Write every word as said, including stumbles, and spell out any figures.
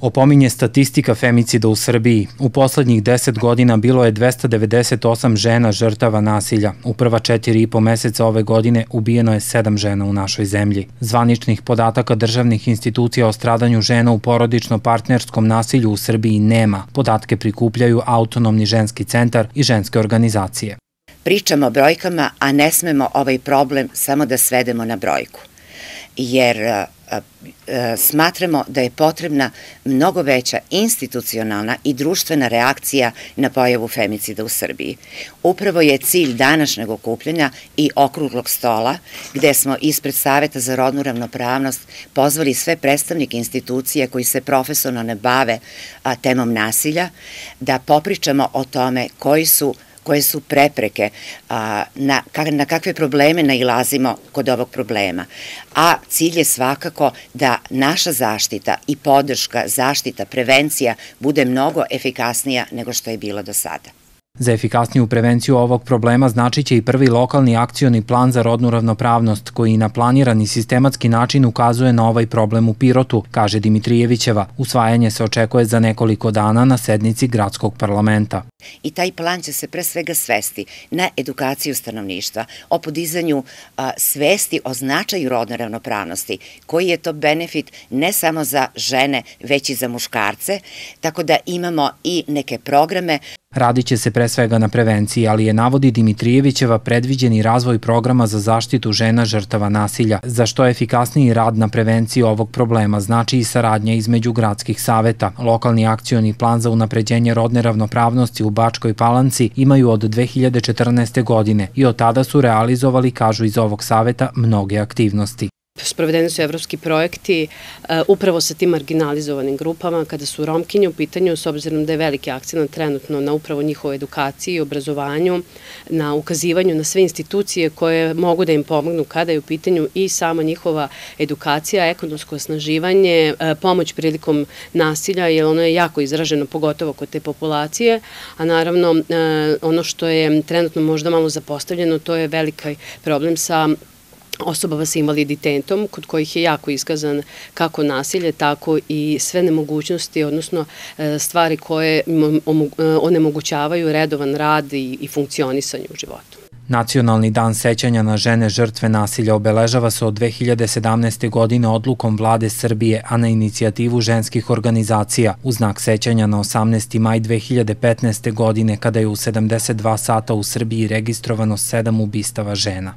Opominje statistika femicida u Srbiji. U poslednjih deset godina bilo je dvesta devedeset osam žena žrtava nasilja. U prva četiri i po meseca ove godine ubijeno je sedam žena u našoj zemlji. Zvaničnih podataka državnih institucija o stradanju žena u porodično-partnerskom nasilju u Srbiji nema. Podatke prikupljaju Autonomni ženski centar i ženske organizacije. Pričamo o brojkama, a ne smemo ovaj problem samo da svedemo na brojku. Jer smatramo da je potrebna mnogo veća institucionalna i društvena reakcija na pojavu femicida u Srbiji. Upravo je cilj današnjeg okupljanja i okruglog stola, gde smo ispred Saveta za rodnu ravnopravnost pozvali sve predstavnike institucije koji se profesionalno bave temom nasilja, da popričamo o tome koji su koje su prepreke, na kakve probleme nailazimo kod ovog problema. A cilj je svakako da naša zaštita i podrška, zaštita, prevencija bude mnogo efikasnija nego što je bila do sada. Za efikasniju prevenciju ovog problema znači će i prvi lokalni akcioni plan za rodnu ravnopravnost, koji na planirani sistematski način ukazuje na ovaj problem u Pirotu, kaže Dimitrijevićeva. Usvajanje se očekuje za nekoliko dana na sednici gradskog parlamenta. I taj plan će se pre svega svesti na edukaciju stanovništva, o podizanju svesti o značaju rodne ravnopravnosti, koji je to benefit ne samo za žene, već i za muškarce, tako da imamo i neke programe. Radit će se pre svega na prevenciji, ali je, navodi Dimitrijevićeva, predviđeni razvoj programa za zaštitu žena žrtava nasilja. Za što efikasniji rad na prevenciji ovog problema znači i saradnja između gradskih saveta. Lokalni akcioni plan za unapređenje rodne ravnopravnosti u Bačkoj Palanci imaju od dve hiljade četrnaeste. godine i od tada su realizovali, kažu iz ovog saveta, mnoge aktivnosti. Sprovedeni su evropski projekti upravo sa tim marginalizovanim grupama, kada su Romkinje u pitanju, s obzirom da je veliki akcent trenutno na upravo njihovoj edukaciji i obrazovanju, na ukazivanju na sve institucije koje mogu da im pomognu kada je u pitanju i sama njihova edukacija, ekonomsko osnaživanje, pomoć prilikom nasilja, jer ono je jako izraženo, pogotovo kod te populacije, a naravno ono što je trenutno možda malo zapostavljeno, to je veliki problem sa osobama sa invaliditetom, kod kojih je jako iskazan kako nasilje, tako i sve nemogućnosti, odnosno stvari koje onemogućavaju redovan rad i funkcionisanje u životu. Nacionalni dan sećanja na žene žrtve nasilja obeležava se od dve hiljade sedamnaeste. godine odlukom Vlade Srbije, a na inicijativu ženskih organizacija, u znak sećanja na osamnaesti maj dve hiljade petnaeste. godine, kada je u sedamdeset dva sata u Srbiji registrovano sedam ubistava žena.